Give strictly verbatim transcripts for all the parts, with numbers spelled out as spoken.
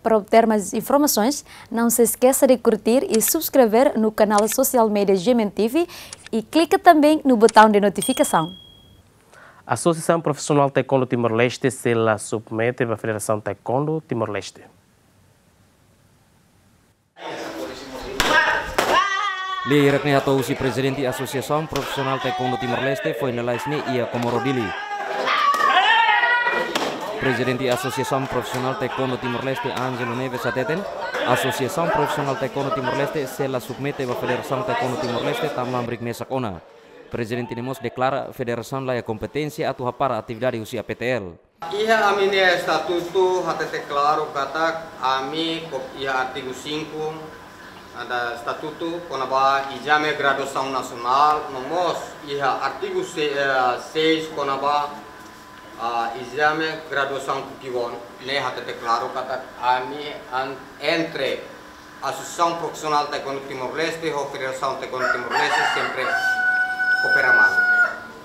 Para obter mais informações, não se esqueça de curtir e subscrever no canal social media G M N T V e clica também no botão de notificação. Asosiasaun Profisionál Taekwondo Timor-Leste sei la submete ba Federasaun Taekwondo Timor-Leste. Lia hirak ne'e hato'o husi Prezidente Asosiasaun Profisionál Taekwondo Timor-Leste foin lalais ne'e iha Comoro Dili. Prezidente Asosiasaun Profisionál Taekwondo Timor-Leste, Angelo Neves, hateten, Asosiasaun Profisionál Taekwondo Timor-Leste sei la submete ba Federasaun Taekwondo Timor-Leste tanba hamriik mesak ona. Prezidente ne'e mós deklara federasaun laiha kompeténsia atu hapara atividade husi A P T L. Iha ami-nia estatutu hatete klaru katak ami kop-, iha artigu cinco da estatutu kona-ba ezame graduasaun nasionál, no mós iha artigu se-, eh, seis kona-ba, ah, ezame graduasaun Pukiwon, ne'e hatete klaru katak ami an-, entre Asosiasaun Profisionál Taekwondo Timor-Leste ho Federasaun Taekwondo Timor-Leste sempre koopera malu.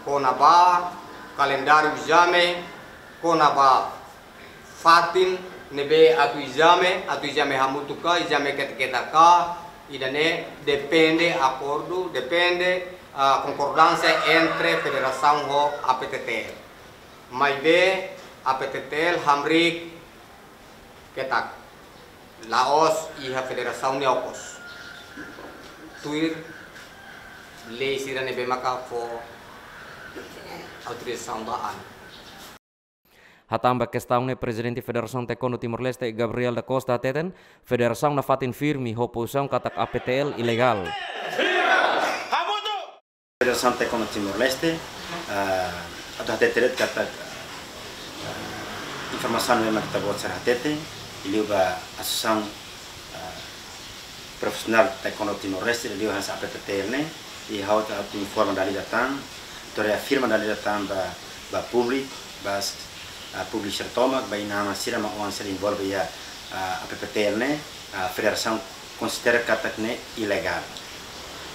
Kona-ba kalendáriu ezame, kona-ba fatin ne'ebé atu ezame, atu ezame hamutuk ka, ezame ketak-ketak ka, ida-ne'e depende akordu, depende, ah, konkordánsia entre federasaun ho A P T T L. Maibé A P T T L hamriik ketak, la'ós iha federasaun nia okos. Tuir lei sira ne'ebé maka fó autorizasaun ba ami. Hatán ba kestaun ne'e, Prezidente Federasaun Taekwondo Timor-Leste, Gabriel da Costa, hateten, federasaun nafatin firme ho pozisaun katak A P T L ilegál. Federasaun Taekwondo Timor-Leste, ah, atu hatete de'it katak, ah, informasaun ne'ebé mak ita-boot sira hatete, liu ba Asosiasaun, ah, Profisionál Taekwondo Timor-Leste, liu hanesan A P T T L ne'e, i ha'u atu informa dala ida tan, atu reafirma dala ida tan ba, ba públiku, ba, ah, públiku sira tomak, ba inan-aman sira, maun-alin sira envolve iha, ah, A P T T L ne'e, ah, federasaun konsidera katak ne'e ilegál.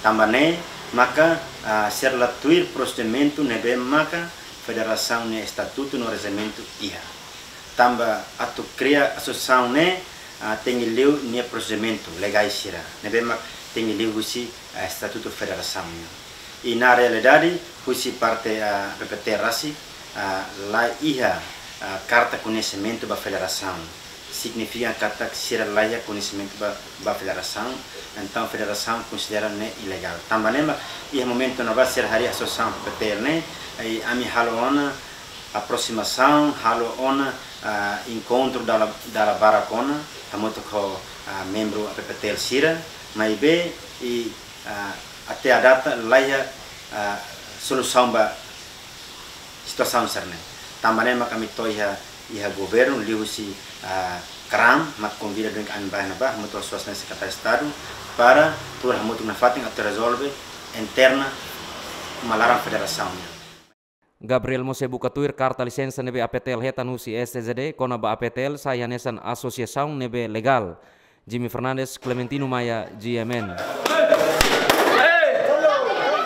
Tanba ne'e maka, ah, sira la tuir prosedimentu ne'ebé maka federasaun nia estatutu no regilamentu iha. Tanba atu kria asosiasaun ne'e, ah, tenke liu nia prosedimentu legál sira ne'ebé mak tenke liu husi, ah, estatutu federasaun nian. I na realidade, husi parte, ah, A P T T L rasik, ah, la iha, ah, karta koñesimentu ba federasaun. Signifika katak sira la iha koñesimentu ba, ba federasaun, entaun federasaun konsidera ne'e ilegál. Tanba ne'e mak iha momentu ne'ebá sira harii asosiasaun A P T T L ne'e, i ami halo ona aproximasaun, halo ona, ah, enkontru dala, dala barak ona, hamutuk ho, ah, membru A P T T L sira, maibé, i, ah, até à data la iha, ah, solusaun ba situasaun sira-ne'e. Tanba ne'e mak ami to'o iha, iha governu, liuhusi, ah, KRAM, mak konvida duni ami ba iha ne'ebá, hamutuk ho Sua Exelénsia Sekretáriu Estadu, para tuur hamutuk nafatin atu rezolve interna uma laran federasaun nian. Gabriel mós sei buka tuir karta lisensa ne'ebé A P T L hetan husi S T Z D, kona-ba A P T L sai hanesan asosiasaun ne'ebé legál. Jimmy Fernandes, Clementino Maia, G M N.